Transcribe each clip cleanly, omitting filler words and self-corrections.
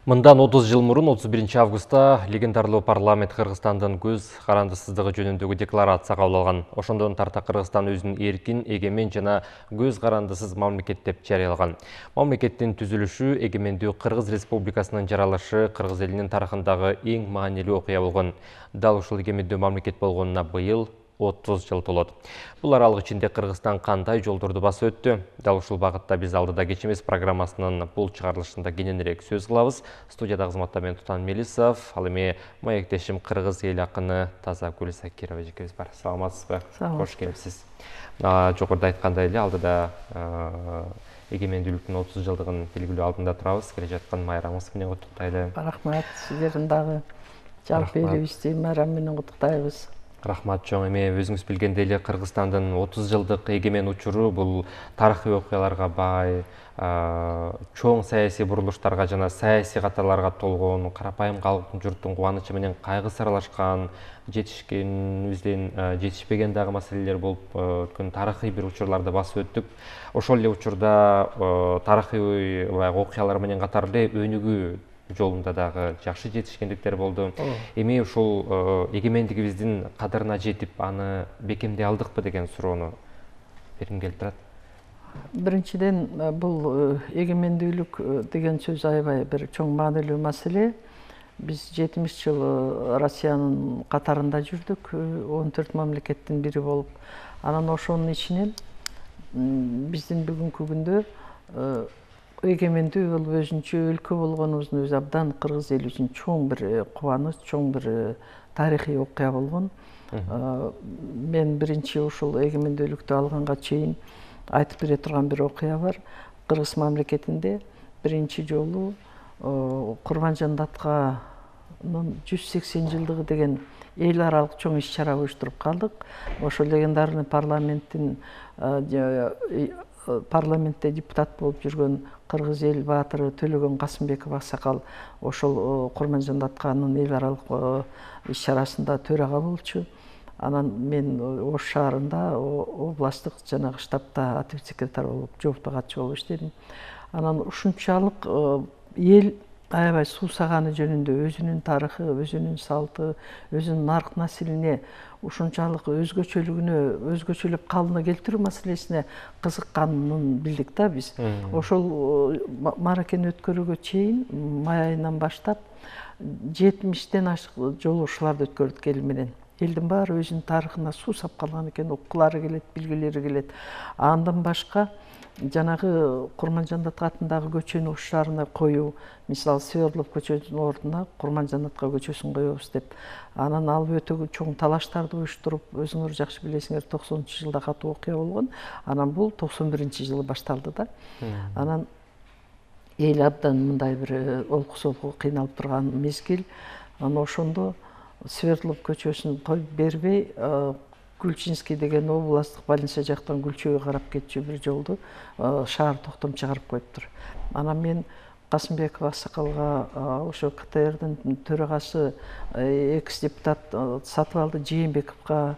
Мындан 30 жыл мурун 31 августта легендарлуу парламент Кыргызстандын көз карандысыздыгы жөнүндөгү декларация кабыл алган. Ошондон тарта Кыргызстан өзүн эркин, эгемен жана көз карандысыз мамлекет деп жарыялаган. Мамлекеттин түзүлүшү, эгемендүү Кыргыз Республикасынын жаралышы Кыргыз элинин тарыхындагы эң маанилүү окуя болгон. Дал ушул эгемендүү мамлекет болгонуна быйыл 30 жыл толот. Бул аралык ичинде Кыргызстан кандай жолдорду басып өттү? Дал ушул багытта биз алдыда кечемиз программасынын бул чыгарылышында кененирээк сөз кылабыз. Студияда кызматта мен Тутан Мелисов, ал эми маектешим Кыргыз эл акыны Тазагүл Закирова эжекебиз бар. Саламатсызбы? Кош келипсиз. Жогоруда айткандай эле алдыда эгемендүүлүктүн 30 жылдыгын белгилөө алдында турабыз. Келе жаткан майрамыңыз менен куттуктайлы. Рахмат, сиздердин дагы жалпы элибизди майрам менен куттуктайбыз. Рахмат чоң. Эми өзүңүз билгендей эле Кыргызстандын 30 жылдык эгемен учуру бул тарыхый окуяларга бай, чоң саясий бурулуштарга жана саясий каталарга толгон, карапайым калктын журттун кубанычы менен кайгысы аралашкан, жетишкенибизден жетишпеген дагы маселелер болуп өткөн тарыхый бир учурларды басып өттүк. Ошол эле учурда тарыхый окуялар менен катар эле өнүгүү жолунда дагы жакшы жетишкендиктер болду. Эми ушул эгемендигибиздин кадырына жетип, аны бекемдей алдыкпы деген суроону бергим келип турат. Биринчиден, бул эгемендүүлүк деген сөз аябай бир чоң маанилүү маселе. Биз 70 жыл Россиянын катарында жүрдүк, 14 мамлекеттин бири болуп. Анан ошонун ичинен биздин бүгүнкү күндө эгемендүү болуп өзүнчө өлкө болгонубуздун өзү абдан кыргыз эли үчүн чоң бир кубаныч, чоң бир тарыхый окуя болгон. Мен биринчи ушул эгемендүүлүктү алганга чейин айтып бере турган бир окуя бар. Кыргыз мамлекетинде биринчи жолу Курманжан Датканын 180 жылдыгы деген эл аралык чоң иш чара уюштуруп калдык. Ошол легендарный парламентте депутат болуп жүргөн кыргыз эл баатыры Төлөгөн Касымбеков аксакал ошол Курманжан Датканын эл аралык иш чарасында төрага болчу. Анан мен Ош шаарында областтык жанагы штабта активдик секретарь болуп, жоопту катчы болуп иштедим. Анан ушунчалык эл аябай суусаганы жөнүндө өзүнүн тарыхы, өзүнүн салты, өзүнүн нарк населине ушунчалык өзгөчөлүп калыбына келтирүү маселесине кызыкканын билдик да биз. Ошол мааракени өткөрүүгө чейин май айынан баштап 70ден ашык жолугушууларды өткөрдүк эл менен. Элдин баары өзүнүн тарыхына суусап калган экен, окугулары келет, билгилери келет. Андан башка жанагы Курманжан Датка атындагы көчөнү Ош шаарына коюу, мисалы Свердлов көчөсүнүн ордуна Курманжан Датка көчөсүн коебуз деп. Анан ал өтө чоң талаштарды уюштуруп, өзүңөр жакшы билесиңер, 90-жылда катуу окуя болгон. Анан бул 91-жылы башталды да. Анан эл абдан мындай бир олку-солку кыйналып турган мезгил. Анан ошондо Свердлов көчөсүн коюп бербей, Гүлчинский деген областтык больница жактан Гүлчөгө карап кетчү бир жолду шаар токтом чыгарып коюптур. Анан мен Касымбеков аксакалга ошо КТРдин төрагасы экс-депутат Сатыбалды Жээнбековго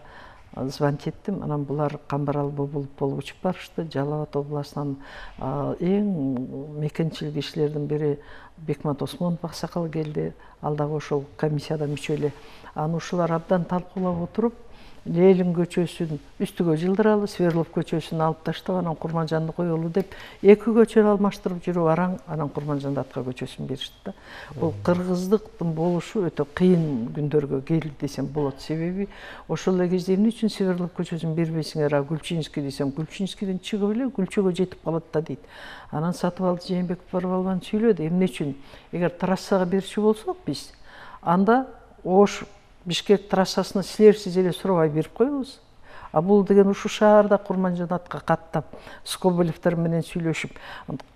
звонить эттим. Анан булар Камбарал болуп учуп барышты. Жалал Абад областынан эң мекенчил кишилердин бири Бекмат Осмонов аксакал келди. Ал дагы ошол комиссияда мүчө эле. Анан ушулар абдан талкуулап отуруп, Ленин көчөсүн үстүгө жылдыралы, Свердлов көчөсүн алып таштап, анан Курманжанды коелу деп, эки көчөнү алмаштырып жүрүп, анан Курманжан Датка көчөсүн беришти да. Бул кыргыздыктын болушу өтө кыйын күндөргө келди десем болот. Себеби ошол эле кезде эмне үчүн Свердлов көчөсүн бербейсиңер, а Гүлчинский десем, Гүлчинскийден чыгып эле Гүлчөгө жетип калат да дейт. Анан Сатыбалды Жээнбеков барып албан сүйлөдү, эмне үчүн? Эгер трассага берчү болсок биз, анда Ош Бишкек трассасына силерсиз эле сурабай берип коебуз. А бул деген ушу шаарда Курманжан Датка каттап, Скобелевдер менен сүйлөшүп,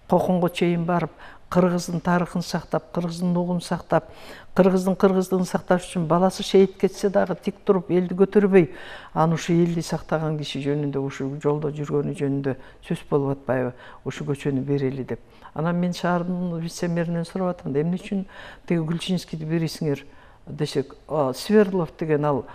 Коконго чейин барып, кыргыздын тарыхын сактап, кыргыздын угун сактап, кыргыздыгын сакташ үчүн баласы шейит кетсе дагы тик туруп, элди көтөрбөй, аны ушу элди сактаган киши жөнүндө, ушу жолдо жүргөнү жөнүндө сөз болуп атпайбы, ушу көчөнү берели деп. Анан мен шаардын вице-мэринен сурап атам, эмне үчүн теги Гүлчинскийди бересиңер десек, Свердлов деген ал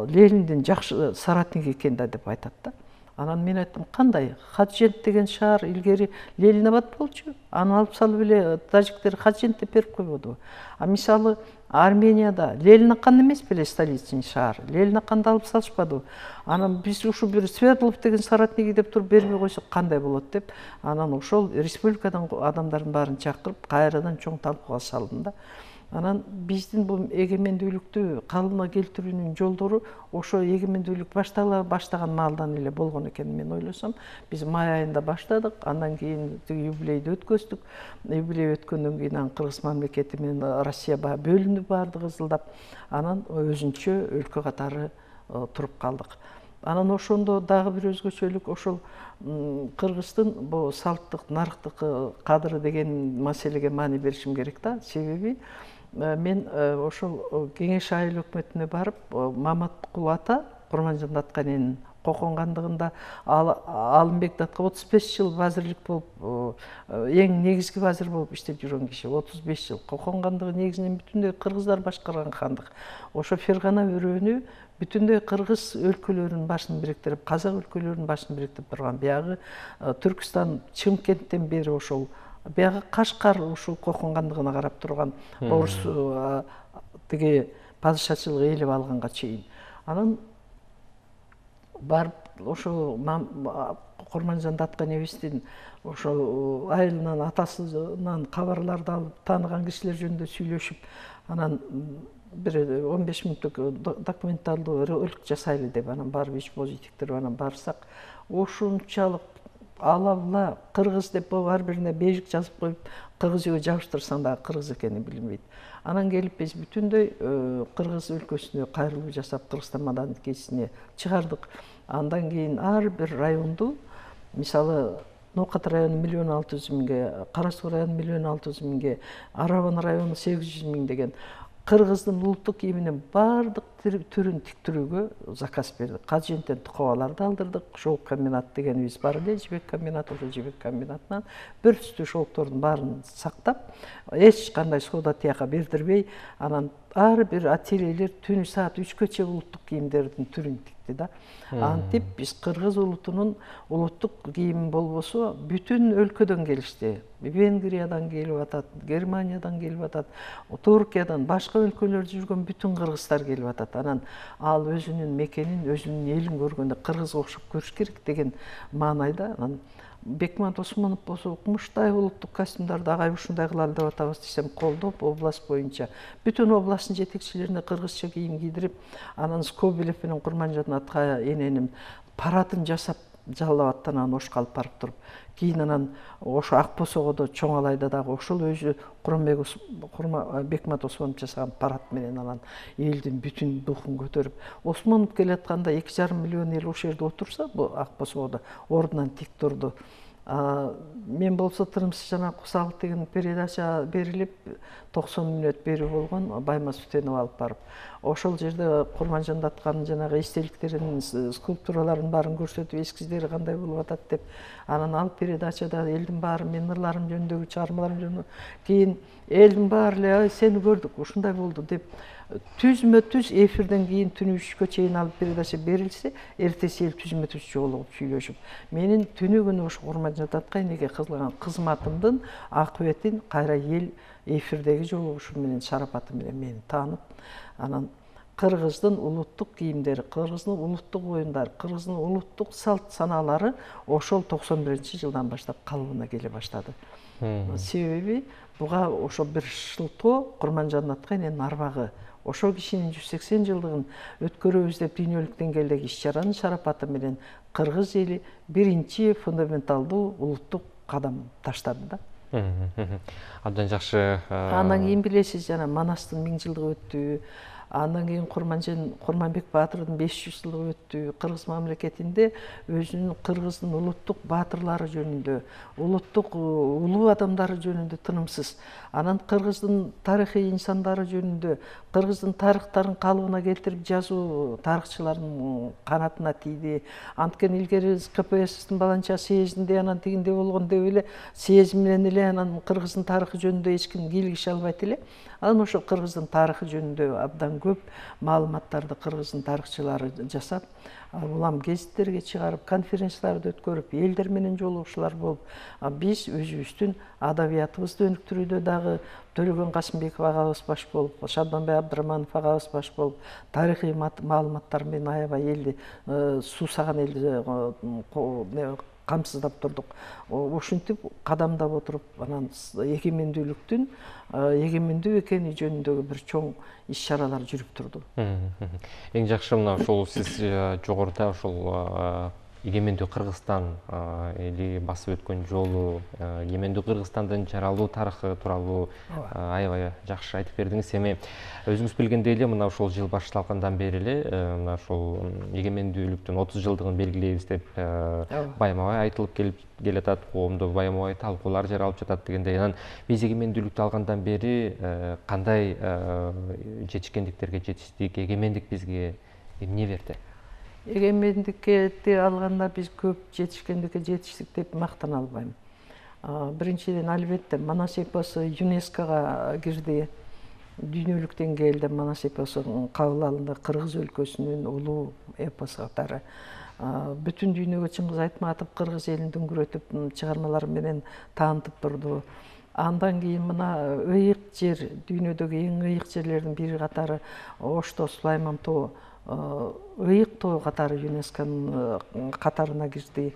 Лениндин жакшы соратниги экен да деп айтат да. Анан мен айттым, кандай? Хаджент деген шаар илгери Ленинабад болчу. Аны алып салып эле тажиктер Хаджент деп берип койбодубу? А мисалы Арменияда Ленинакан эмес беле столичный шаар. Ленинаканды алып салышпадыбы? Анан биз ушу бир Свердлов деген соратники деп туруп бербей койсок кандай болот деп, анан ошол республикадан адамдардын баарын чакырып, кайрадан чоң талкууга салдым да. Анан биздин бул эгемендүүлүктү калыбына келтирүүнүн жолдору ошо эгемендүүлүк баштаган маалдан эле болгон экен мен ойлосом. Биз май айында баштадык, андан кийин юбилейди өткөздүк. Юбилей өткөндөн кийин анан Кыргыз мамлекети менен Россия бөлүнүп бардык ызылдап, анан өзүнчө өлкө катары туруп калдык. Анан ошондо дагы бир өзгөчөлүк ошол Кыргыздын бул салттык, нарыктык кадыры деген маселеге маани беришим керек да. Себеби мен ошол Кеңеш айыл өкмөтүнө барып, Маматкул ата, Курманжан Атканенин коконгандыгында Алымбек датка 35 жыл вазирлик болуп, эң негизги вазир болуп иштеп жүргөн киши, 35 жыл. Коконгандыгы негизинен бүтүндөй кыргыздар башкарган хандык. Ошо Фергана өрөөнү бүтүндөй кыргыз өлкөлөрүнүн башын бириктирип, казак өлкөлөрүнүн башын бириктирип турган. Биягы Түркүстан, Чымкенттен бери ошол биягы Кашкар ушул коконгандыгына карап турган орус тиги падышачылык ээлеп алганга чейин. Анан барып ошо Курманжан Атканебиздин ошол айылынан, атасынан кабарларды алып, тааныган кишилер жөнүндө сүйлөшүп, анан бир 15 мүнөттүк документалдуу ролик жасайлы деп, анан барып ич позитивдер анан барсак, ошончалык алабла кыргыз деп ар бирине бежик жазып коюп, кыргыз үйгө жабыштырсаң дагы кыргыз экени билинбейт. Анан келип биз бүтүндөй кыргыз өлкөсүнө кайрылуу жасап, Кыргызстан маданиятчесине чыгардык. Андан кийин ар бир районду, мисалы Ноокат району 1,6 миңге, Кара Суу району 1,6 миңге, Арабан району 800 миң деген кыргыздын улуттук кийиминин бардык түрүн тиктирүүгө заказ бердик. Хадженттен тукабаларды алдырдык. Шоук комбинат дегенибиз бар эле, жибек комбинаты, ошо жибек комбинатынан бир түстүү шоуктордун баарын сактап, эч кандай соода тияка бердирбей, анан ар бир ательелер түнү саат 3-кө улуттук кийимдердин түрүн тикти да. Антип биз кыргыз улутунун улуттук кийими болбосо бүтүн өлкөдөн келишти. Венгриядан келип атат, Германиядан келип атат, Туркиядан, башка өлкөлөрдө жүргөн бүтүн кыргыздар келип атат. Анан ал өзүнүн мекенин, өзүнүн элин көргөндө кыргызга окшоп көрүш керек деген маанайда. Анан Бекман Осмонов болсо укмуштай улуттук костюмдарды агай ушундай кылалы деп атабыз десем, колдоп область боюнча бүтүн областтын жетекчилерине кыргызча кийим кийдирип, анан Скобелев менен Курманжан Атка эненин паратын жасап жалал абадтан Ошко алып барып туруп, кийин анан ошо Ак Босогодо чоң алайда дагы ошол өзү Бекман Осмонов жасаган парад менен анан элдин бүтүн духун көтөрүп, Осмонов келатканда 2,5 миллион эл ошол жерде отурса, бул Ак Босогодо ордунан тик турду. Мен болсо тырымсыз жана Кусалык деген передача берилип 90 мүнөт берүү болгон, Баймас Үтенов алып барып. Ошол жерде Курманжан Атканын жанагы эстеликтеринин, скульптураларын баарын көрсөтүп, эскиздери кандай болуп атат деп, анан ал передачада элдин баары менин ырларым жөнүндөгү, чыгармаларым жөнүндө, кийин элдин баары эле сени көрдүк, ушундай болду деп түзмө-түз эфирден кийин түнү 3-кө чейин алып передача берилсе, эртеси эл түзмө-түз жолугуп сүйлөшүп, менин түнү күнү ошо Курманжан Атканеге кылган кызматымдын акыбетин кайра эл эфирдеги жолугушуу менен, шарапаты менен мени таанып, анан кыргыздын улуттук кийимдери, кыргыздын улуттук оюндары, кыргыздын улуттук салт санаалары ошол 91-жылдан баштап калыбына келе баштады. Себеби буга ошо бир шылтоо Курманжан Атканенин арбагы, ошол кишинин 180 жылдыгын өткөрөбүз деп дүйнөлүк деңгээлдеги иш-чаранын шарапаты менен кыргыз эли биринчи фундаменталдуу улуттук кадам таштады да. Абдан жакшы. Андан кийин билесиз, жана Манастын 1000 жылдыгы өттү. Андан кийин Курманбек Баатырдын 500 жылдыгы өттү. Кыргыз мамлекетинде өзүнүн кыргыздын улуттук баатырлары жөнүндө, улуттук улуу адамдары жөнүндө тынымсыз. Анан кыргыздын тарыхый инсандары жөнүндө кыргыздын тарыхтарын калыбына келтирип жазуу тарыхчылардын канатына тийди. Анткени илгери КПССтин баланча съездинде анан тигинде болгон деп эле съезд менен эле анан кыргыздын тарыхы жөнүндө эч ким кийлигише албайт эле. Анан ошо кыргыздын тарыхы жөнүндө абдан көп маалыматтарды кыргыздын тарыхчылары жасап, улам гезиттерге чыгарып, конференцияларды өткөрүп, элдер менен жолугушуулар болуп, биз өзүбүздүн адабиятыбызды өнүктүрүүдө дагы Төлөгөн Касымбеков агабыз баш болуп, Шабданбай Абдыраманов агабыз баш болуп, тарыхый маалыматтар менен аябай элди, суусаган элди камсыздап турдук. Ушинтип кадамдап отуруп, анан эгемендүүлүктүн эгемендүү экени жөнүндөгү бир чоң иш-чаралар жүрүп турду. Эң жакшы мына ошол сиз жогоруда ошол эгемендүү Кыргызстан эли басып өткөн жолу, эгемендүү Кыргызстандын жаралуу тарыхы тууралуу аябай жакшы айтып бердиңиз. Эми өзүңүз билгендей эле мына ошол жыл башталгандан бери эле мына ошол эгемендүүлүктүн 30 жылдыгын белгилейбиз деп байма-бай айтылып келатат, коомдо байма-бай талкуулар жаралып жатат дегендей. Анан биз эгемендүүлүктү алгандан бери кандай жетишкендиктерге жетиштик, эгемендик бизге эмне берди? Эгемендикти алганда биз көп жетишкендикке жетиштик деп мактана албайм. Биринчиден, албетте, Манас эпосу ЮНЕСКОга кирди. Дүйнөлүк деңгээлде Манас эпосу кабыл алынды, Кыргыз өлкөсүнүн улуу эпосу катары. Бүтүн дүйнөгө Чыңгыз Айтматов Кыргыз элин дүңгүрөтүп чыгармалары менен таанытып турду. Андан кийин мына ыйык жер, дүйнөдөгү эң ыйык жерлердин бири катары Ошто Сулайман тоо, ыйык тоо катары ЮНЕСКонун катарына кирди.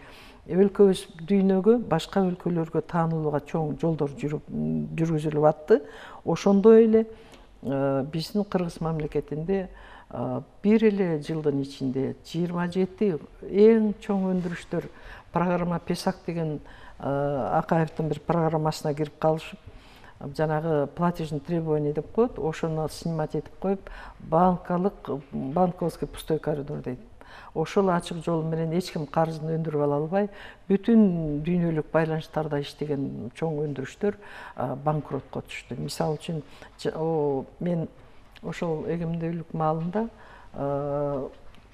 Өлкөбүз дүйнөгө, башка өлкөлөргө таанылууга чоң жолдор жүргүзүлүп атты. Ошондой эле биздин Кыргыз мамлекетинде бир эле жылдын ичинде 27 эң чоң өндүрүштөр программа Песак деген Акаевдин бир программасына кирип калышып, жанагы платежный требование деп коет, ошону снимать этип коюп, банковский пустой коридор дейт. Ошол ачык жол менен эч ким карызын өндүрүп ала албай, бүтүн дүйнөлүк байланыштарда иштеген чоң өндүрүштөр банкротко түштү. Мисалы үчүн, мен ошол эгемендүүлүк маалында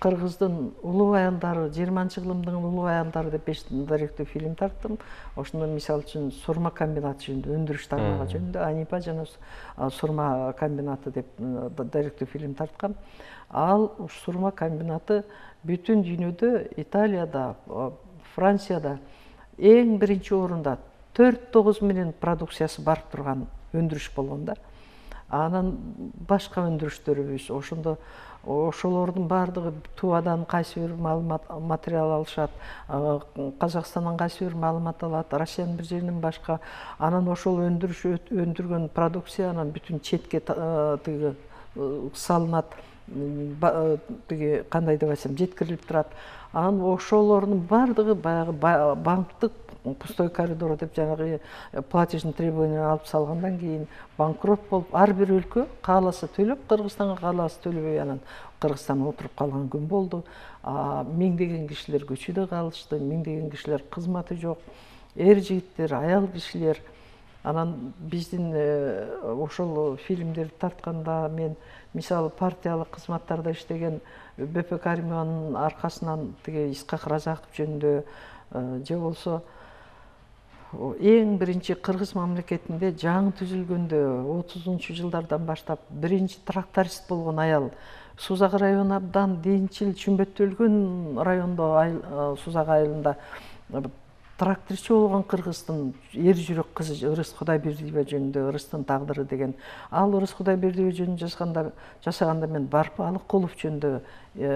Кыргыздын улуу аялдары, 20-кылымдын улуу аялдары деп 5 даректүү фильм тарттым. Ошондо мисалы үчүн сурма комбинаты жөнүндө, өндүрүш тармагы жөнүндө, Анипа жана сурма комбинаты деп даректүү фильм тарткам. Ал сурма комбинаты бүтүн дүйнөдө, Италияда, Францияда эң биринчи орунда 4-9 менен продукциясы барып турган өндүрүш болгон да. Анан башка өндүрүштөрүбүз ошондо ошолордун баардыгы Тувадан кайсы бир материал алышат, Казакстандан кайсы бир маалымат алат, Россиянын бир жеринен башка. Анан ошол өндүргөн продукция анан бүтүн четке тиги салынат, тиги кандай деп айтсам, жеткирилип турат. Анан ошолордун баардыгы баягы банктык пустой коридор деп жанагы платежный требование алып салгандан кийин банкрот болуп, ар бир өлкө кааласа төлөп, Кыргызстанга кааласа төлөбөй, анан Кыргызстан отуруп калган күн болду. Миңдеген кишилер көчүдө калышты, миңдеген кишилер кызматы жок, эр жигиттер, аял кишилер. Анан биздин ошол фильмдерди тартканда мен мисалы партиялык кызматтарда иштеген БП Каримованын аркасынан тиги Исхак Разаков жөнүндө же болсо эң биринчи Кыргыз мамлекетинде жаңы түзүлгөндө 30-жылдардан баштап биринчи тракторист болгон аял, Сузак району абдан динчил, чүмбөттөлгөн райондо, Сузак айылында тракторчу болгон Кыргыздын эр жүрөк кызы Ырыс Кудайбердиева жөнүндө, Ырыстын тагдыры деген. Ал Ырыс Кудайбердиева жөнүндө жасаганда мен Барпы Алыкулов жөнүндө,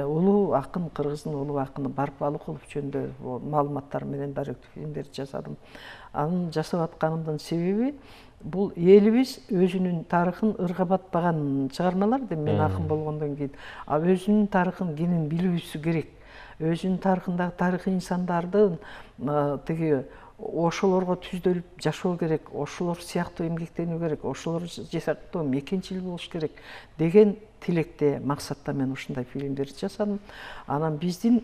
улуу акын, Кыргыздын улуу акыны Барпы Алыкулов жөнүндө маалыматтар менен даректүү фильмдерди жасадым. Аны жасап атканымдын себеби бул элибиз өзүнүн тарыхын ыргабатпаган чыгармалар деп мен акын болгондон кийин, өзүнүн тарыхын кенен билүүсү керек. Өзүнүн тарыхындагы тарыхый инсандардын тиги ошолорго түздөлүп жашоо керек, ошолор сыяктуу эмгектенүү керек, ошолор сыяктуу мекенчил болуш керек деген тилекте, максатта мен ушундай фильмдерди жасадым. Анан биздин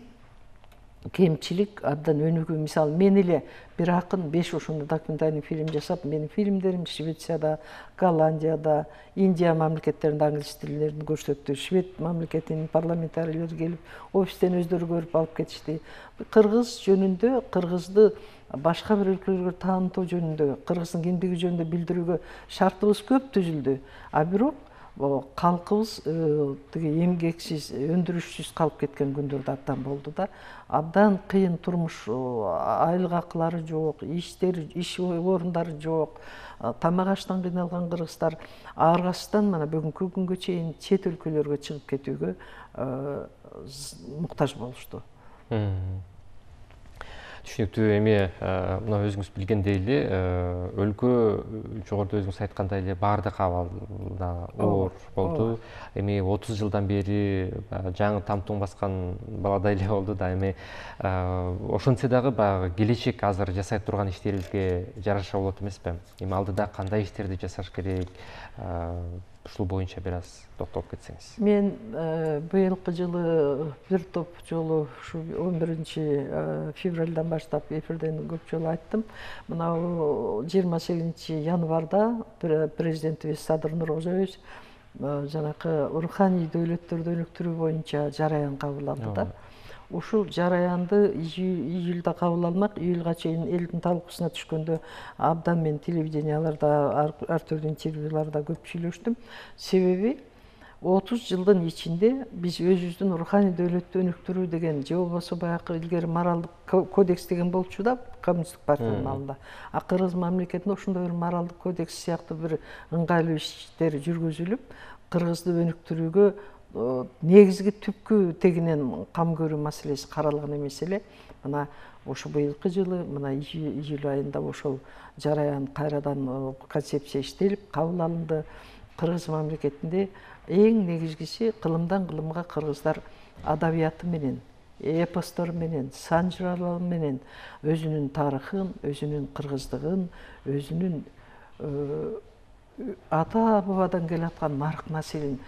кемчилик абдан өнүгүү. Мисалы мен эле бир акын 5 ошондой документальный фильм жасап, менин фильмдерим Швецияда, Голландияда, Индия мамлекеттеринде англис тилдерин көрсөттү. Швед мамлекетинин парламентарийлери келип, офистен өздөрү көрүп алып кетишти. Кыргыз жөнүндө, кыргызды башка бир өлкөлөргө таанытуу жөнүндө, кыргыздын кимдиги жөнүндө билдирүүгө шартыбыз көп түзүлдү. А бирок калкыбыз тиги эмгексиз, өндүрүшсүз калып кеткен күндөрдө абдан болду да. Абдан кыйын турмуш, айлык акылары жок, иш орундары жок, тамак аштан кыйналган кыргыздар аргасыздан мына бүгүнкү күнгө чейин чет өлкөлөргө чыгып кетүүгө муктаж болушту. Түшүнүктүү. Эми мына өзүңүз билгендей эле өлкө жогоруда өзүңүз айткандай эле баардык абалда оор болду. Эми 30 жылдан бери жаңы тамтуң баскан баладай эле болду да. Эми ошентсе дагы баягы келечек азыр жасай турган иштерибизге жараша болот эмеспи? Эми алдыда кандай иштерди жасаш керек? Ушул боюнча бир аз токтолуп кетсеңиз. Мен быйылкы жылы бир топ жолу ушу 11 февралдан баштап эфирден көп жолу айттым. Мына 28 январда президентибиз Садыр Нуркожоевич жанакы руханий дөөлөттөрдү өнүктүрүү боюнча жараян кабыл алды да. Ушул жараянды июлда кабыл алмак, июлга чейин элдин талкуусуна түшкөндө абдан мен телевиденияларда, ар түрдүү интервьюларда көп сүйлөштүм. Себеби 30 жылдын ичинде биз өзүбүздүн руханий дөөлөттү өнүктүрүү деген, же болбосо баягы илгери моралдык кодекс деген болчу да коммунисттик партиянын алдында. А Кыргыз мамлекетинде ошондой бир моралдык кодекс сыяктуу бир ыңгайлуу иштер жүргүзүлүп, кыргызды өнүктүрүүгө негизги түпкү тегинен кам көрүү маселеси каралган эмес эле. Мына ошо быйылкы жылы мына июль айында ошол жараян кайрадан концепция иштелип кабыл алынды. Кыргыз мамлекетинде эң негизгиси кылымдан кылымга кыргыздар адабияты менен, эпостору менен, сан жыраалары менен өзүнүн тарыхын, өзүнүн кыргыздыгын, өзүнүн ата бабадан келаткан нарк населин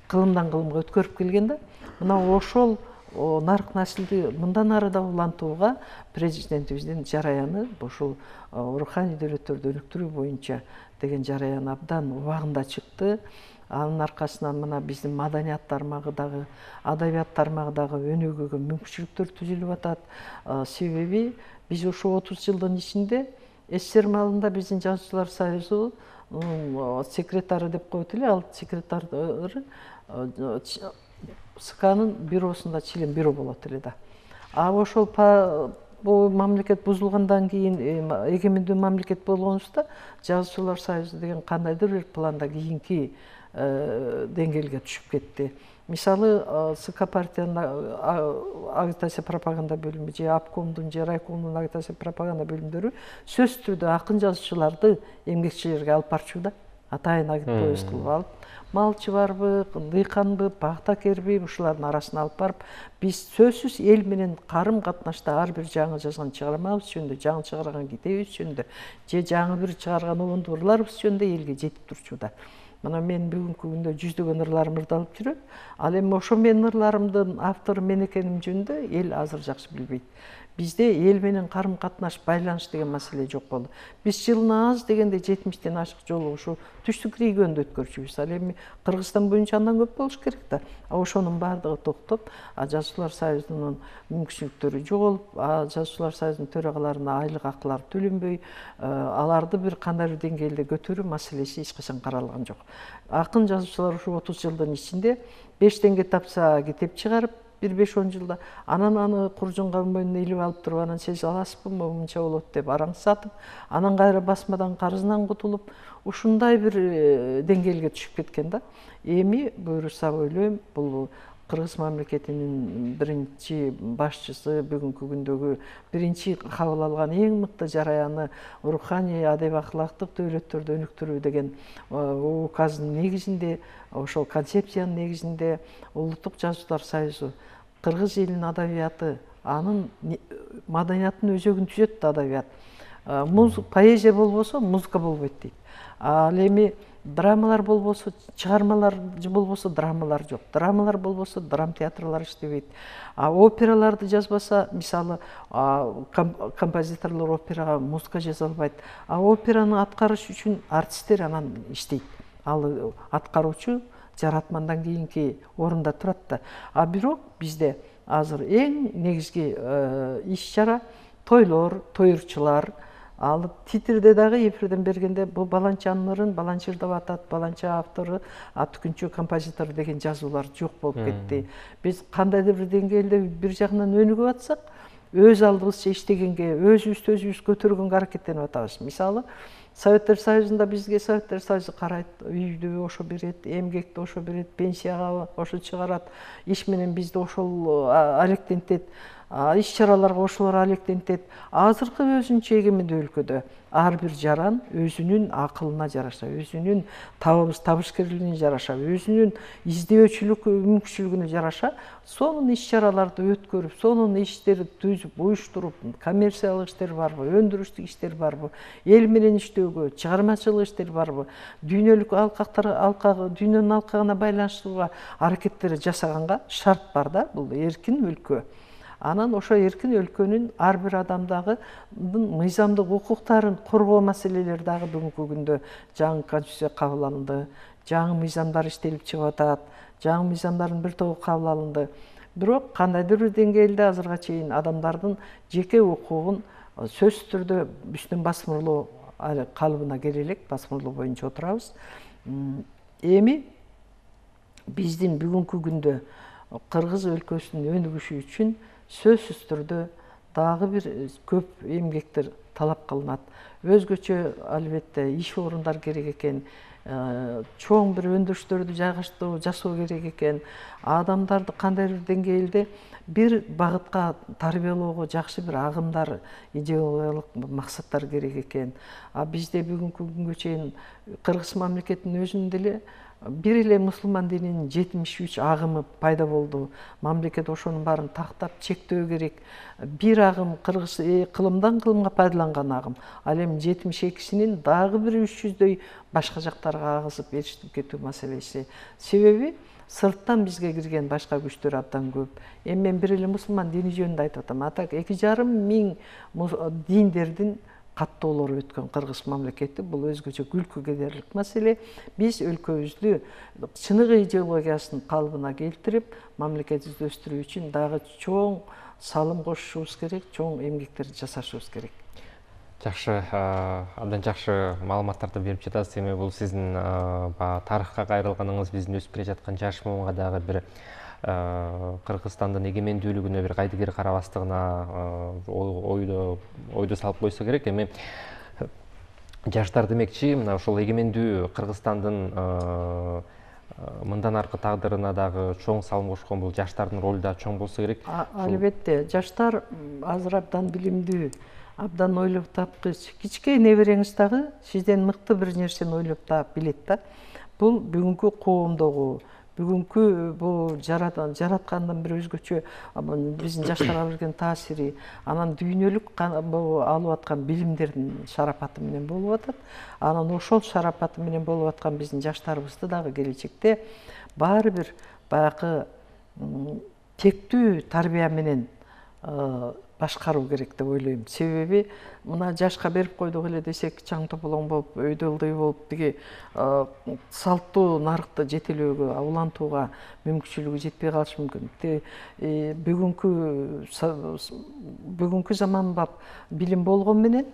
кылымдан кылымга өткөрүп келген да. Мына ошол нарк насилди мындан ары да улантууга президентибиздин жараяны, ошол руханий дөөлөттөрдү өнүктүрүү боюнча деген жараян абдан убагында чыкты. Анын аркасынан мына биздин маданият тармагы дагы, адабият тармагы дагы өнүгүүгө мүмкүнчүлүктөр түзүлүп атат. Себеби биз ошо 30 жылдын ичинде СССР маалында биздин жазуучулар союзу секретары деп коет эле, ал секретары СКнын бюросунда член бюро болот эле да. А ошол бул мамлекет бузулгандан кийин, эгемендүү мамлекет болгонубузда жазуучулар союзу деген кандайдыр бир планда кийинки деңгээлге түшүп кетти. Мисалы СК партиянын агитация пропаганда бөлүмү же обкомдун же райкомдун агитация пропаганда бөлүмдөрү сөзсүз түрдө акын жазуучуларды эмгекчилерге алып барчу да. Атайын агит поезд кылып алып, малчы барбы, дыйканбы, пахтакерби, ушулардын арасына алып барып, биз сөзсүз эл менен карым катнашта ар бир жаңы жазган чыгармабыз жөнүндө, жаңы чыгарган китебибиз жөнүндө же жаңы бир чыгарган убундууларыбыз жөнүндө элге жетип турчу да. Мына мен бүгүнкү күндө жүздөгөн ырларым ырдалып жүрөт. Ал эми ошо менин ырларымдын автору мен экеним жөнүндө эл азыр жакшы билбейт. Бизде эл менен карым катнаш, байланыш деген маселе жок болду. Биз жылына аз дегенде 70тен ашык жолу ушу түштүк региондо өткөрчүбүз. Ал эми Кыргызстан боюнча андан көп болуш керек да. Ошонун баардыгы токтоп, жазуучулар союзунун мүмкүнчүлүктөрү жоголуп, жазуучулар союзунун төрагаларына айлык акылары төлөнбөй, аларды бир кандай бир деңгээлде көтөрүү маселеси эч качан каралган жок. Акын жазуучулар ушу 30 жылдын ичинде 5 теңге тапса китеп чыгарып, 1-5-10 жылда анан аны куржунга мойнуна илип алып туруп, анан сиз аласызбы, мынча болот деп араң сатып, анан кайра басмадан карызынан кутулуп, ушундай бир деңгээлге түшүп кеткен да. Эми буюрса ойлойм, бул Кыргыз мамлекетинин биринчи башчысы, бүгүнкү күндөгү биринчи кабыл алган эң мыкты жараяны руханий, адеби акылактык дөөлөттөрдү өнүктүрүү деген указдын негизинде, ошол концепциянын негизинде Улуттук жазуучулар союзу кыргыз элинин адабияты, анын маданиятынын өзөгүн түзөт да адабият. Поэзия болбосо музыка болбойт дейт. Ал эми драмалар болбосо, чыгармалар болбосо драмалар жок. Драмалар болбосо драм театрлар иштебейт. Операларды жазбаса, мисалы, композиторлор операга музыка жаза албайт. Операны аткарыш үчүн артисттер анан иштейт. Ал аткаруучу жаратмандан кийинки орунда турат да. Бирок бизде азыр эң негизги иш-чара тойлор, тоюрчулар. Ал титрде дагы эфирден бергенде бул баланчанын ырын баланча ырдап атат, баланча автору, түкүнчү композитор деген жазуулар жок болуп кетти. Биз кандайдыр бир деңгээлде бир жагынан өнүгүп атсак, өз алдыбызча иштегенге, өзүбүз көтөргөнгө аракеттенип атабыз. Мисалы, Советтер Союзунда бизге Советтер Союзу карайт, үйдү ошо берет, эмгекти ошо берет, пенсияга ошо чыгарат, иш менен бизди ошол алектентет. Иш-чараларга ошолор алектентет. Азыркы өзүнчө эгемендүү өлкөдө ар бир жаран өзүнүн акылына жараша, өзүнүн табышкерлигине жараша, өзүнүн издөөчүлүк мүмкүнчүлүгүнө жараша сонун иш-чараларды өткөрүп, сонун иштерди түзүп, уюштуруп, коммерциялык иштер барбы, өндүрүштүк иштер барбы, эл менен иштөөгө, чыгармачылык иштер барбы, дүйнөлүк дүйнөнүн алкагына байланыштырууга аракеттер жасаганга шарт бар да, бул эркин өлкө. Анан ошо эркин өлкөнүн ар бир адамдагы мыйзамдык укуктарын коргоо маселелери дагы бүгүнкү күндө жаңы конституция кабыл алынды, жаңы мыйзамдар иштелип чыгып атат, жаңы мыйзамдардын бир тобу кабыл алынды. Бирок кандайдыр бир деңгээлде азырга чейин адамдардын жеке укугун сөзсүз түрдө үстүн басмырлоо калыбына келе элек, басмырлоо боюнча отурабыз. Эми биздин бүгүнкү күндө кыргыз өлкөсүнүн өнүгүшү үчүн сөзсүз түрдө дагы бир көп эмгектер талап кылынат. Өзгөчө албетте иш орундар керек экен, чоң бир өндүрүштөрдү жасоо керек экен. Адамдарды кандайдыр деңгээлде бир багытка тарбиялоого жакшы бир агымдар, идеологиялык максаттар керек экен. Бизде бүгүнкү күнгө чейин кыргыз мамлекетинин өзүндө деле бир эле мусулман дининин 73 агымы пайда болду. Мамлекет ошонун баарын тактап чектөө керек. Бир агым кыргыз кылымдан кылымга пайдаланган агым. Ал эми 72синин дагы бир 300дөй башка жактарга агызып эрişип кетүү маселеси. Себеби сырттан бизге кирген башка күчтөр абдан көп. Эми мен бир эле мусулман дини жөнүндө айтып атам. Так 2,5 миң диндердин каттоолору өткөн кыргыз мамлекети, бул өзгөчө күлкү кетерлик маселе. Биз өлкөбүздү чыныгы идеологиясынын калыбына келтирип, мамлекетибизди өстүрүү үчүн дагы чоң салым кошушубуз керек, чоң эмгектер жасашыбыз керек. Жакшы, абдан жакшы маалыматтарды берип жатасыз. Эми бул сиздин тарыхка кайрылганыңыз биздин өсүп келе жаткан жаш муунга дагы бир Кыргызстандын эгемендүүлүгүнө бир кайдыгер карабастыгына ойду салып койсо керек. Эми жаштар демекчи, мына ошол эгемендүү Кыргызстандын мындан аркы тагдырына дагы чоң салым кошкон бул жаштардын ролу да чоң болсо керек. Албетте, жаштар азыр абдан билимдүү, абдан ойлоп тапкыч. Кичке небереңиз дагы сизден мыкты бир нерсени ойлоп таап билет да. Бул бүгүнкү коомдогу, бүгүнкү бул жараткандын бир өзгөчө биздин жаштарга берген таасири, анан дүйнөлүк алып аткан билимдердин шарапаты менен болуп атат. Анан ошол шарапаты менен болуп аткан биздин жаштарыбызды дагы келечекте баары бир баягы тектүү тарбия менен башкаруу керек деп ойлойм. Себеби мына жашка берип койдук эле десек, чаң тополоң болуп, өйдө ылдый болуп, тиги салттуу нарыкты жетелөөгө, улантууга мүмкүнчүлүгү жетпей калышы мүмкүн. Бүгүнкү заманбап билим болгон менен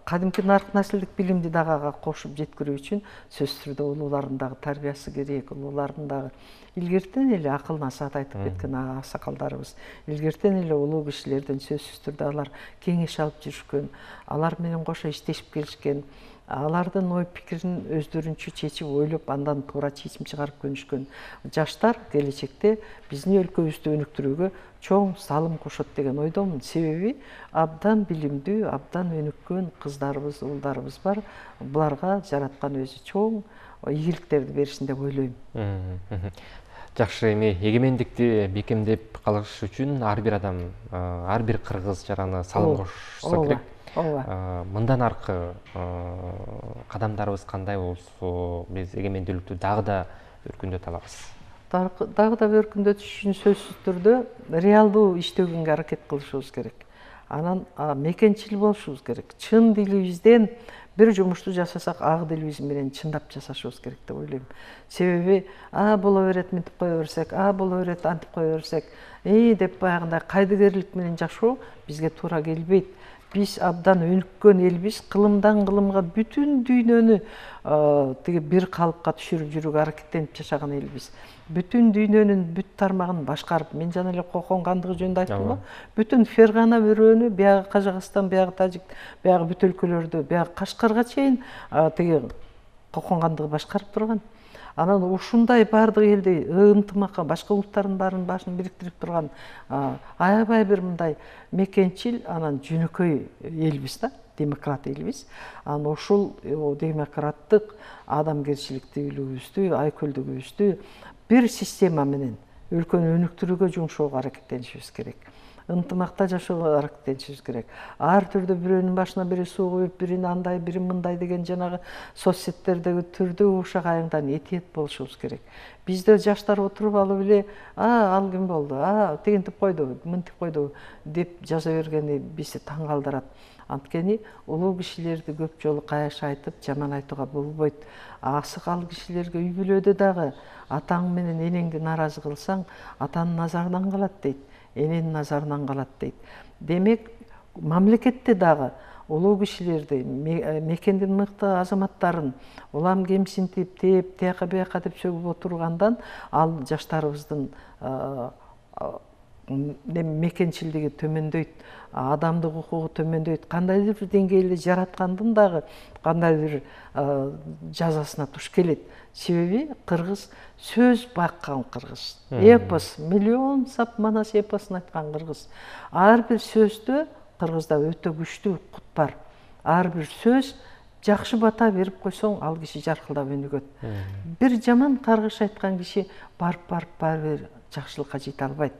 кадимки нарык наслдик билимди дагы ага кошуп жеткирүү үчүн сөзсүз түрдө улуулардын дагы тарбиясы керек, улуулардын дагы илгертен эле акыл насаат айтып кеткен аксакалдарыбыз, илгертен эле улуу кишилерден сөзсүз түрдө алар кеңеш алып жүрүшкөн, алар менен кошо иштешип келишкен, алардын ой пикирин өздөрүнчө чечип ойлоп, андан туура чечим чыгарып көнүшкөн жаштар келечекте биздин өлкөбүздү өнүктүрүүгө чоң салым кошот деген ойдомун. Себеби абдан билимдүү, абдан өнүккөн кыздарыбыз, уулдарыбыз бар. Буларга жараткан өзү чоң ийгиликтерди беришин деп ойлойм. Жакшы, эми эгемендикти бекемдеп калыш үчүн ар бир адам, ар бир кыргыз жараны салым кошсо керек. ооба. Мындан аркы кадамдарыбыз кандай болсо биз эгемендүүлүктү дагы да өркүндөтө алабыз? Дагы да өркүндөтүш үчүн сөзсүз түрдө реалдуу иштөгөнгө аракет кылышыбыз керек. Анан мекенчил болушубуз керек. Чын дилибизден бир жумушту жасасак, ак дилибиз менен чындап жасашыбыз керек деп ойлойм. Себеби боло берет, мынтип кое берсек, боло берет, антип кое берсек, деп баягындай кайдыгерлик менен жашоо бизге туура келбейт. Биз абдан өнүккөн элбиз, кылымдан кылымга бүтүн дүйнөнү тиги бир калыпка түшүрүп жүрүүгө аракеттенип жашаган элбиз. Бүтүн дүйнөнүн бүт тармагын башкарып, мен жана эле Кокон кандыгы жөнүндө айттымбы? Бүтүн Фергана бөрөнү, биягы Кажакстан, биягы Тажик, биягы бүт өлкөлөрдү, биягы Кашкарга чейин тиги Кокон кандыгы башкарып турган. Анан ушундай баардык элди ынтымакка, башка улуттардын башын бириктирип турган аябай бир мындай мекенчил, анан жөнөкөй элбиз да, демократ элбиз. Анан ушул демократтык адамгерчиликтүүлүгүбүздү, айкөлдүгүбүздү бир система менен өлкөнү өнүктүрүүгө жумшоого аракеттенишибиз керек. Ынтымакта жашоого аракеттенишибиз керек. Ар түрдө бирөөнүн башына бири суу куюп, бирин андай, бирин мындай деген жанагы соцсеттердеги түрдүү ушак-айыңдан этиет болушубуз керек. Бизде жаштар отуруп алып эле, ал ким болду, тигинтип койду, мынтип койду деп жаза бергени бизди таң калтырат. Анткени улуу кишилерди көп жолу каяш айтып, жаман айтууга болбойт. Асык ал кишилерге үй бүлөдө дагы атаң менен энеңди нааразы кылсаң, атанын назарынан калат дейт, эненин назарынан калат дейт. Демек, мамлекетте дагы улуу кишилерди, мекендин мыкты азаматтарын улам кемсинтип, тээп, тияка бияка деп сөгүп отургандан ал жаштарыбыздын мекенчилдиги төмөндөйт, адамдык укугу төмөндөйт. Кандайдыр бир деңгээлде жараткандын дагы кандайдыр жазасына туш келет. Себеби кыргыз сөз баккан кыргыз. Эпос, миллион сап манас эпосун айткан кыргыз. Ар бир сөздө кыргызда өтө күчтүү кут бар. Ар бир сөз жакшы бата берип койсоң, ал киши жаркылдап өнүгөт. Бир жаман каргыш айткан киши барып жакшылыкка жете албайт.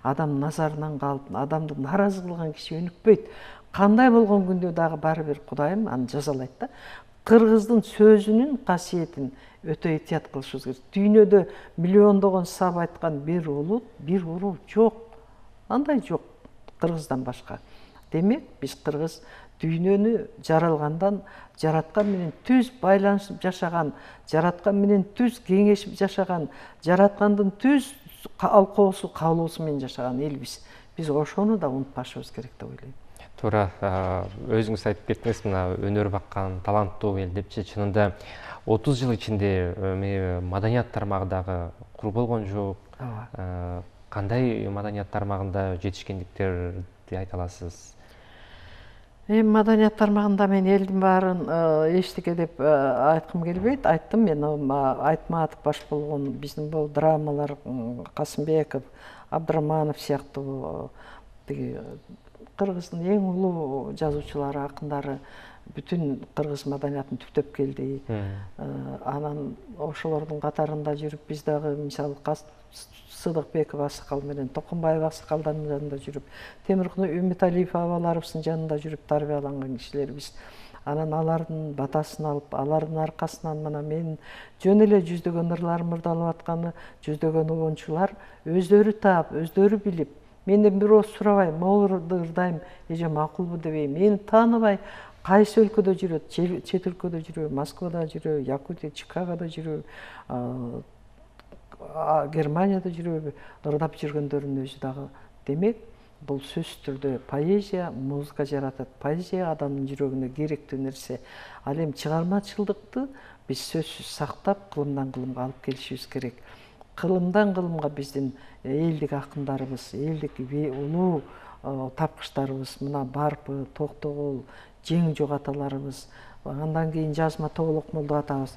Адам назарынан калып, адамды нааразы кылган киши өнүкпөйт. Кандай болгон күндө дагы баары бир Кудайым аны жазалайт да. Кыргыздын сөзүнүн касиетин өтө этият кылышыбыз керек. Дүйнөдө миллиондогон сап айткан бир улут, бир урул жок. Андай жок кыргыздан башка. Демек, биз кыргыз дүйнөнү жаралгандан, жараткан менен түз байланышып жашаган, жараткан менен түз кеңешип жашаган, жараткандын түз алкоосу, каалоосу менен жашаган элбиз. Биз ошону да унутпашыбыз керек деп ойлойм. Туура, өзүңүз айтып кеттиңиз, мына өнөр баккан таланттуу эл депчи. Чынында 30 жыл ичинде маданият тармагындагы кур болгон жок. Кандай маданият тармагында жетишкендиктерди айта аласыз? Маданият тармагында мен элдин баарын эчтеке деп айткым келбейт. Айттым, мен Айтматов баш болгон биздин бул драмалар, Касымбеков, Абдыраманов сыяктуу тиги кыргыздын эң улуу жазуучулары, акындары бүтүн кыргыз маданиятын түптөп келди. Анан ошолордун катарында жүрүп, биз дагы мисалы Сыдыкбеков аксакал менен Токонбаев аксакалдардын жанында жүрүп, Темиркулу Үмүталиев абаларыбыздын жанында жүрүп тарбияланган кишилербиз. Анан алардын батасын алып, алардын аркасынан мына мен жөн эле жүздөгөн ырларым ырдалып атканы, жүздөгөн угунчулар өздөрү таап, өздөрү билип, менден бир ооз сурабай, могулду ырдайм, эже макулбу дебейм, мени тааныбай кайсы өлкөдө жүрөт, чет өлкөдө жүрөбү, Москвада жүрөбү, Якутия, Чикагодо жүрөбү, Германияда жүрөбү, ырдап жүргөндөрдүн өзү дагы. Демек, бул сөзсүз түрдө поэзия музыка жаратат. Поэзия адамдын жүрөгүнө керектүү нерсе. Ал эми чыгармачылдыкты биз сөзсүз сактап, кылымдан кылымга алып келишибиз керек. Кылымдан кылымга биздин элдик акындарыбыз, элдик улуу тапкычтарыбыз, мына Барпы, Токтогул, Жең Жок аталарыбыз, андан кийин Жазма Тоголок Молдо атабыз.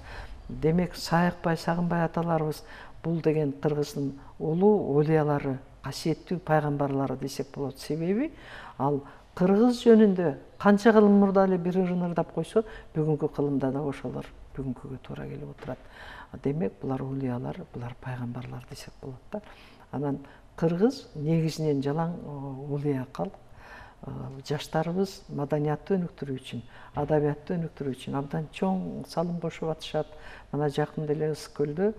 Демек, Сайыкбай, Сагынбай аталарыбыз бул деген кыргыздын улуу олиялары, касиеттүү пайгамбарлары десек болот. Себеби ал кыргыз жөнүндө канча кылым мурда эле бир ырын ырдап койсо, бүгүнкү кылымда да ошолор бүгүнкүгө туура келип отурат. Демек, булар олиялар, булар пайгамбарлар десек болот да. Анан кыргыз негизинен жалаң олия калк, жаштарыбыз маданиятты өнүктүрүү үчүн, адабиятты өнүктүрүү үчүн абдан чоң салым кошуп атышат. Мына жакында эле Ысык көлдө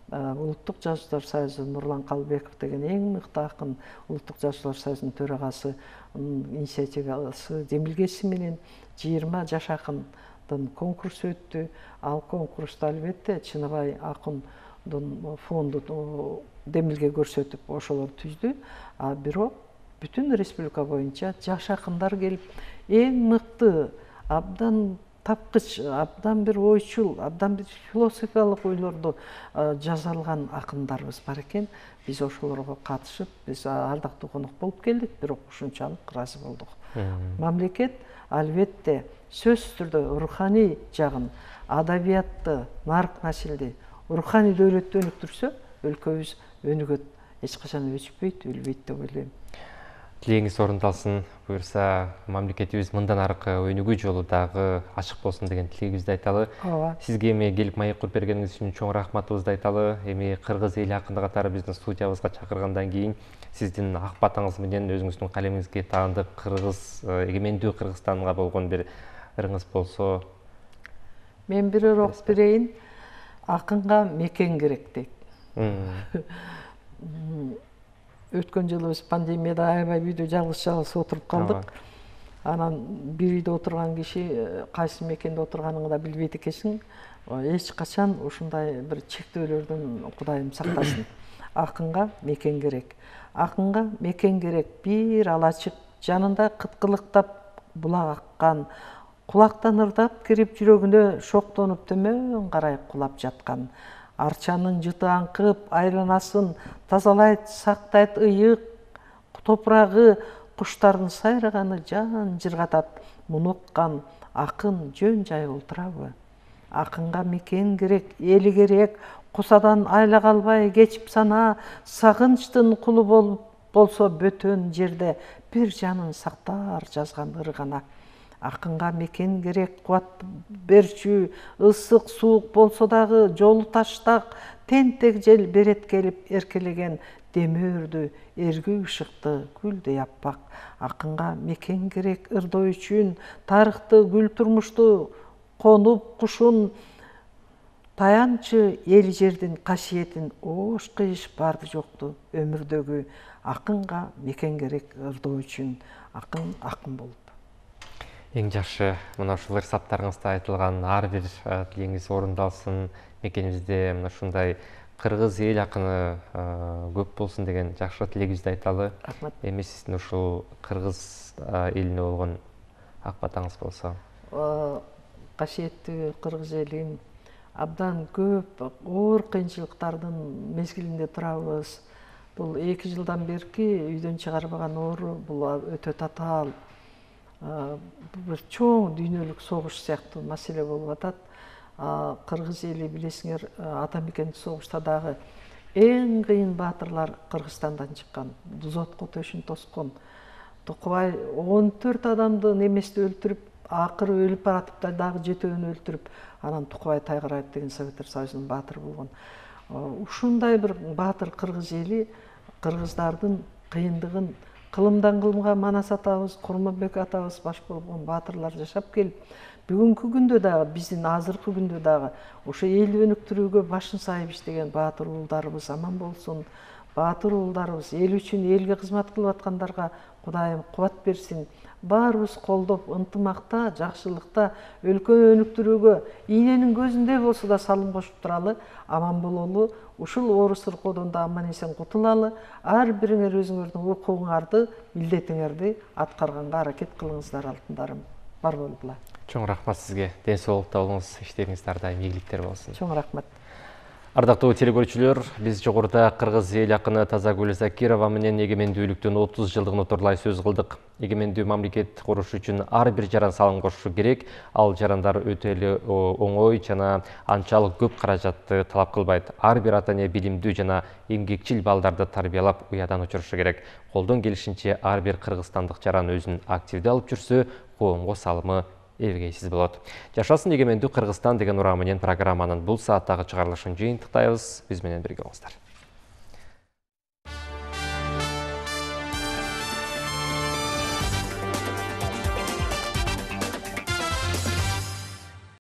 Улуттук жазуучулар союзу Нурлан Калбеков деген эң мыкты акын, Улуттук жазуучулар союзунун төрагасы инициативасы демилгеси менен 20 жаш акындын конкурсу өттү. Ал конкурста албетте Чыныбай акындын фонду демилге көрсөтүп ошолор түздү. А бирок бүтүн республика боюнча жаш акындар келип, эң мыкты, абдан тапкыч, абдан бир ойчул, абдан бир философиялык ойлорду жаза алган акындарыбыз бар экен. Биз ошолорго катышып, биз ардактуу конок болуп келдик, бирок ушунчалык ыраазы болдук. Мамлекет албетте сөзсүз түрдө руханий жагын, адабиятты, нарк насилди, руханий дөөлөттү өнүктүрсө, өлкөбүз өнүгөт, эч качан өчпөйт, өлбөйт деп ойлойм. Тилегиңиз орындалсын, буюрса мамлекетибиз мындан аркы өнүгүү жолу дагы ачык болсун деген тилегибизди айталы. Сизге эми келип маек куруп бергениңиз үчүн чоң рахматыбызды айталы. Эми кыргыз эли акыны катары биздин студиябызга чакыргандан кийин сиздин ак батаңыз менен өзүңүздүн калемиңизге таандык кыргыз эгемендүү Кыргызстанга болгон бир ырыңыз болсо. Мен бир урок берейин. Акынга мекен керек дейт. Өткөн жылы биз пандемияда аябай үйдө жалгыз отуруп калдык. Анан бир үйдө отурган киши кайсы мекенде отурганыңды да билбейт экенсиң. Эч качан ушундай бир чектөөлөрдөн Кудайым сактасын. Акынга мекен керек. Акынга мекен керек. Бир алачык, жанында кыткылыктап булак аккан, кулактан ырдап кирип жүрөгүнө шоктонуп төмөн карай кулап жаткан. Арчанын жыты аңкып, айланасын тазалайт, сактайт ыйык, топурагы, куштардын сайраганы жан жыргатат. Муну уккан акын жөн жай олтурабы? Акынга мекен керек, эли керек, кусадан айла калбай кечип сана, сагынчтын кулу болсо бөтөн жерде бир жанын сактар жазган ыргана. Акынга мекен керек, кубат берчү, ысык, суук болсо дагы жолу таштак, тентек жел берет келип эркелеген демөөрдү, эргүү ышыкты, гүлдөй аппак. Акынга мекен керек ырдоо үчүн, тарыхты, гүл турмушту конуп кушун, таянчы эл жердин касиетин, оош кыйыш барды жокту өмүрдөгү. Акынга мекен керек ырдоо үчүн, акын болуп. Эң жакшы, мына ушул ырсаптарыңызда айтылган ар бир тилегиңиз орундалсын. Мекенибизде мына ушундай кыргыз эл акыны көп болсун деген жакшы тилегибизди айталы. Рахмат. Эми сиздин ушул кыргыз элине болгон ак батаңыз болсо. Касиеттүү кыргыз элим, абдан көп оор кыйынчылыктардын мезгилинде турабыз. Бул 2 жылдан берки үйдөн чыгарбаган оору, бул өтө татаал. Бир чоң дүйнөлүк согуш сыяктуу маселе болуп атат. Кыргыз эли билесиңер, ата мекендик согушта дагы эң кыйын баатырлар Кыргызстандан чыккан. Дузотко төшүн тоскон. Токубай 14 адамды неместе өлтүрүп, акыры өлүп баратып да дагы 7-өн өлтүрүп, анан Тукубай Тайгараев деген Советтер Союзунун баатыры болгон. Ушундай бир баатыр кыргыз эли кыргыздардын кыйындыгын кылымдан кылымга Манас атабыз, Курманбек атабыз баш болгон баатырлар жашап келип, бүгүнкү күндө дагы, биздин азыркы күндө дагы ошо эл өнүктүрүүгө башын сайып иштеген баатыр уулдарыбыз аман болсун. Баатыр уулдарыбыз эл үчүн, элге кызмат кылып аткандарга Кудайым кубат берсин. Баарыбыз колдоп, ынтымакта, жакшылыкта өлкөнү өнүктүрүүгө ийненин көзүндөй болсо да салым кошуп туралы, аман бололу. Ушул оор сыркоодон да аман эсен кутулалы. Ар бириңер өзүңөрдүн укугуңарды, милдетиңерди аткарганга аракет кылыңыздар, алтындарым. Бар болгула. Чоң рахмат сизге. Ден соолукта болуңуз, иштериңиз ар дайым ийгиликтер болсун. Чоң рахмат. Ардактуу телекөрүүчүлөр, биз жогоруда кыргыз эл акыны Тазагүл Закирова менен эгемендүүлүктүн 30 жылдыгын отурлай сөз кылдык. Эгемендүү мамлекет куруш үчүн ар бир жаран салым кошушу керек. Ал жарандар өтө эле оңой жана анчалык көп каражатты талап кылбайт. Ар бир ата эне билимдүү жана эмгекчил балдарды тарбиялап уядан учурушу керек. Колдон келишинче ар бир кыргызстандык жаран өзүн активдүү алып жүрсө, коомго салымы эбегейсиз болот. Жашасын эгемендүү Кыргызстан деген ураа менен программанын бул сааттагы чыгарылышын жыйынтыктайбыз. Биз менен бирге болуңуздар.